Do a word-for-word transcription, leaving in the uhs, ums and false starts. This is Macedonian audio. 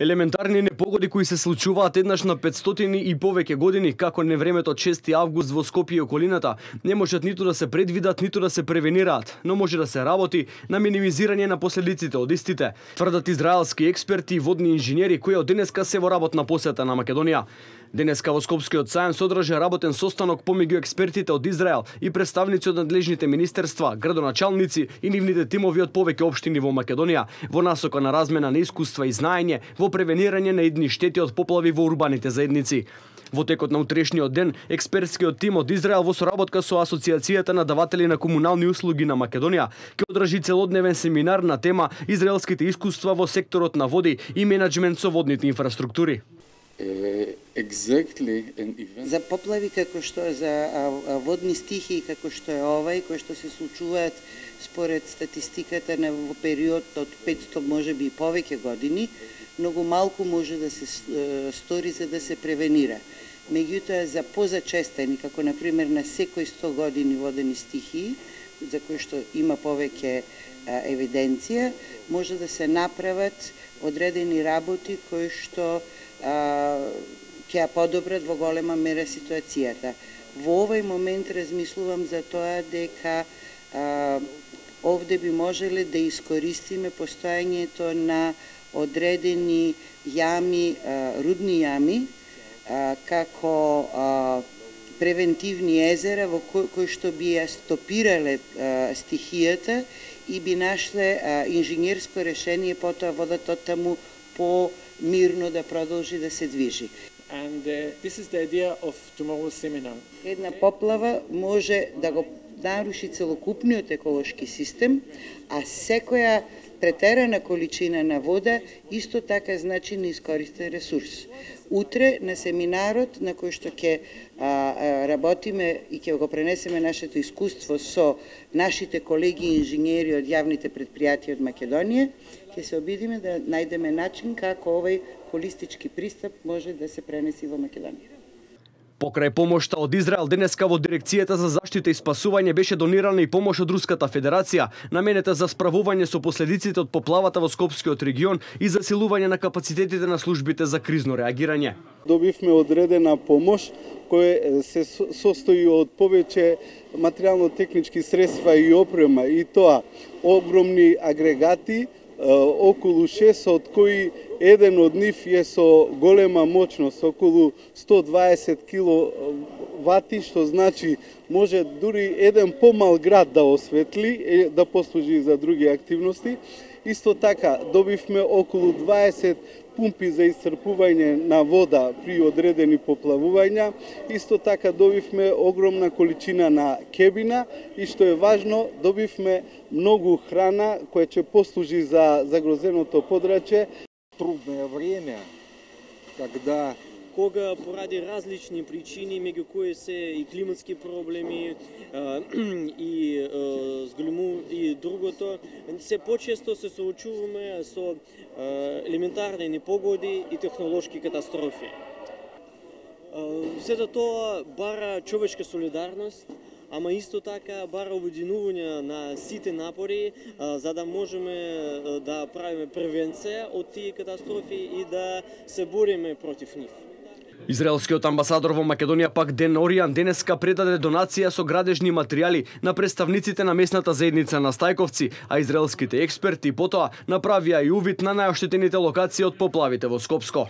Елементарни непогоди кои се случуваат еднаш на петстотини и повеќе години, како невремето од шести август во Скопје и околината, не можат ниту да се предвидат, ниту да се превенираат, но може да се работи на минимизирање на последиците од истите, тврдат израелски експерти и водни инженери кои од денеска се во работна посета на Македонија. Денеска во Скопскиот сајм се одржа работен состанок помеѓу експертите од Израел и представници од надлежните министерства, градоначалници и нивните тимови од повеќе општини во Македонија, во насока на размена на искуства и знаење во превенирање на идни штети од поплави во урбаните заедници. Во текот на утрешниот ден, експертскиот тим од Израел во соработка со Асоциацијата на даватели на комунални услуги на Македонија ќе одржи целодневен семинар на тема Израелските искуства во секторот на води и менаџмент со водните инфраструктури. Exactly за поплави како што е, за а, а, водни стихии како што е овај, кои што се случуваат според статистиката на во период од петсто можеби и повеќе години, многу малку може да се е, стори за да се превенира. Меѓутоа за позачестени, како на пример на секој сто години водени стихии, за кои што има повеќе а, евиденција, може да се направат одредени работи кои што а, ќе ја подобрат во голема мера ситуацијата. Во овој момент размислувам за тоа дека а, овде би можеле да искористиме постојањето на одредени јами, а, рудни јами, а, како а, превентивни езера во кои, кои што би ја стопирале а, стихијата и би нашле а, инженерско решение потоа водата таму по мирно да продолжи да се движи. And uh, this is the idea of tomorrow's seminar. Една поплава може да го наруши целокупниот еколошки систем, а секоја претерана количина на вода исто така значи неискористен ресурс. Утре на семинарот на кој што ќе работиме и ќе го пренесеме нашето искуство со нашите колеги инженери од јавните предпријатија од Македонија, ќе се обидиме да најдеме начин како овој холистички пристап може да се пренеси во Македонија. Покрај помошта од Израел, денеска во Дирекцијата за заштита и спасување беше донирана и помош од Руската Федерација, наменета за справување со последиците од поплавата во Скопскиот регион и засилување на капацитетите на службите за кризно реагирање. Добивме одредена помош која се состои од повеќе материјално-технички средства и опрема, и тоа огромни агрегати, околу шест, од кои еден од нив е со голема мощност, околу сто дваесет киловати, што значи може дури еден помал град да осветли, да послужи за други активности. Исто така добивме околу дваесет пумпи за исцрпување на вода при одредени поплавувања. Исто така добивме огромна количина на кебина и што е важно, добивме многу храна која ќе послужи за загрозеното подрачје. Трудное время, когда кога поради различни причини, меѓу кои се и климатски проблеми и зголему и другото, се почесто се соочуваме со елементарни непогоди и технолошки катастрофи. Сето тоа бара човечка солидарност, ама исто така бара обединување на сите напори за да можеме да правиме превенција од тие катастрофи и да се бориме против нив. Израелскиот амбасадор во Македонија пак Ден Оријан денеска предаде донација со градежни материјали на представниците на местната заедница на Стајковци, а израелските експерти потоа направија и увид на најоштетените локации од поплавите во Скопско.